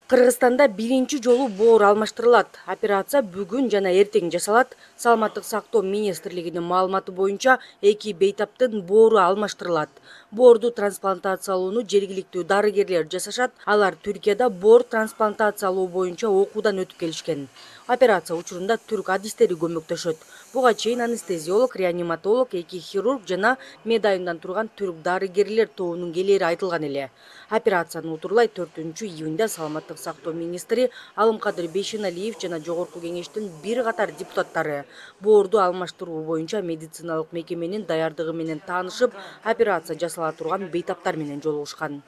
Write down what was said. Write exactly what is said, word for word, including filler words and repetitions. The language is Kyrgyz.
Кыргызстанда биринчи жолу боор алмаштырылат. Операция бүгүн жана эртең жасалат. Саламаттык сактоо министрлигинин маалыматы боюнча эки бейтаптын боору алмаштырылат. Боорду трансплантациялоону жергиликтүү дарыгерлер жасашат. Алар Түркияда боор трансплантациялоо боюнча окуудан өтүп келишкен. Операция учурунда түрк адистери көмөктөшөт. Буга чейин анестезиолог, реаниматолог, эки хирург жана медайымдан турган түрк дарыгерлер тобунун келери айтылган эле. Операцияны утурлай төртүнчү июнда саламаттык сактоо министри Алымкадыр Бейшеналиев жана Жогорку кеңештин бир катар депутаттары боорду алмаштыруу боюнча медициналык мекеменин даярдыгы менен таанышып, операция жасала турган бейтаптар менен жолугушкан.